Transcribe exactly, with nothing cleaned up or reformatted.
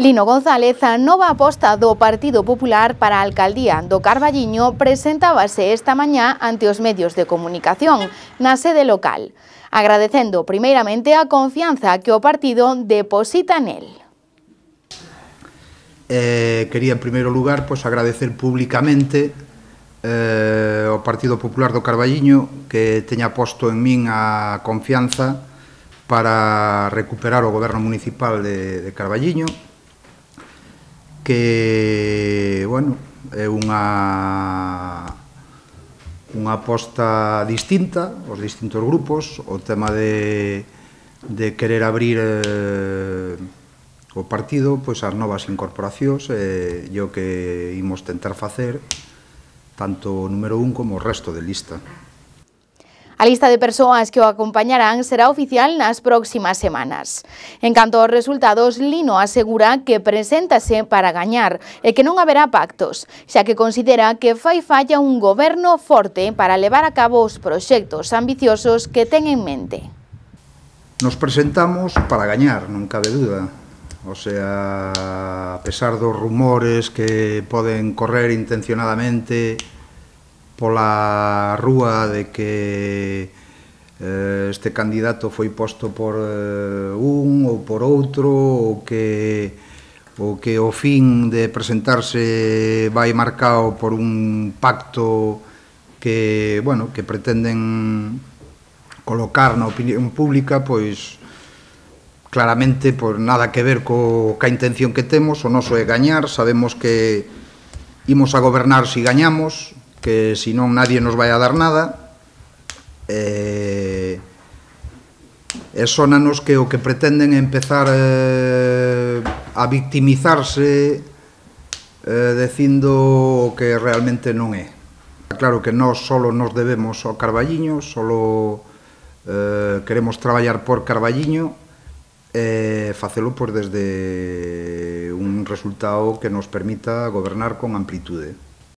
Lino González, a nova aposta do Partido Popular para a alcaldía do Carballiño, presentábase esta mañá ante os medios de comunicación na sede local, agradecendo primeiramente a confianza que o partido deposita nel. Eh, quería en primeiro lugar pois, agradecer públicamente eh, ao Partido Popular do Carballiño que teña posto en min a confianza para recuperar o goberno municipal de, de Carballiño, que, bueno, é unha unha aposta distinta aos distintos grupos, o tema de, de querer abrir eh, o partido pois ás novas incorporacións e eh, o que imos tentar facer tanto o número un como o resto de lista. A lista de persoas que o acompañarán será oficial nas próximas semanas. En canto aos resultados, Lino asegura que preséntase para gañar e que non haberá pactos, xa que considera que fai falla un goberno forte para levar a cabo os proxectos ambiciosos que ten en mente. Nos presentamos para gañar, non cabe duda. O sea, a pesar dos rumores que poden correr intencionadamente pola rúa de que eh, este candidato foi posto por eh, un ou por outro, ou que, ou que o fin de presentarse vai marcado por un pacto que, bueno, que pretenden colocar na opinión pública, pois claramente pois, nada que ver co, ca intención que temos. O noso é gañar, sabemos que imos a gobernar se gañamos, que se non nadie nos vai a dar nada, e, e sonanos que o que pretenden é empezar eh, a victimizarse eh, dicindo o que realmente non é. Claro que nós solo nos debemos ao Carballiño, solo eh, queremos traballar por Carballiño e facelo pues, desde un resultado que nos permita gobernar con amplitude.